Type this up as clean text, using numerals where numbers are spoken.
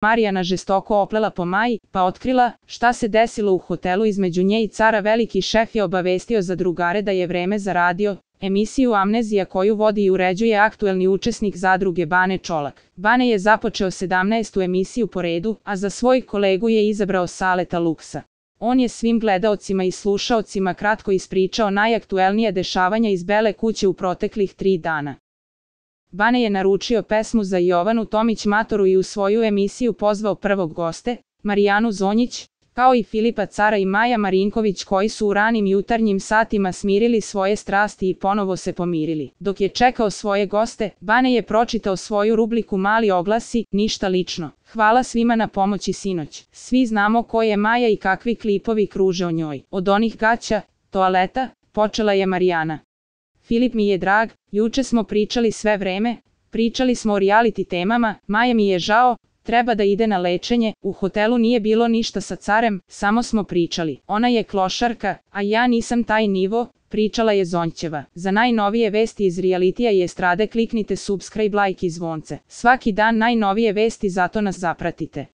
Marijana žestoko oplela po Maji, pa otkrila šta se desilo u hotelu između nje i cara. Veliki šef je obavestio zadrugare da je vreme za radio emisiju Amnezija koju vodi i uređuje aktuelni učesnik zadruge Bane Čolak. Bane je započeo 17. emisiju po redu, a za svoj kolegu je izabrao Saleta Luksa. On je svim gledaocima i slušaocima kratko ispričao najaktuelnije dešavanja iz Bele kuće u proteklih 3 dana. Bane je naručio pesmu za Jovanu Tomić Matoru i u svoju emisiju pozvao prvog goste, Marijanu Zonjić, kao i Filipa Cara i Maja Marinković koji su u ranim jutarnjim satima smirili svoje strasti i ponovo se pomirili. Dok je čekao svoje goste, Bane je pročitao svoju rubriku Mali oglasi, ništa lično. Hvala svima na pomoći sinoć. Svi znamo ko je Maja i kakvi klipovi kruže o njoj. Od onih gaća, toaleta, počela je Marijana. Filip mi je drag, juče smo pričali sve vreme, pričali smo o reality temama, Maja mi je žao, treba da ide na lečenje, u hotelu nije bilo ništa sa carem, samo smo pričali. Ona je klošarka, a ja nisam taj nivo, pričala je Zonjćeva. Za najnovije vesti iz realitija i estrade kliknite subscribe, like i zvonce. Svaki dan najnovije vesti, zato nas zapratite.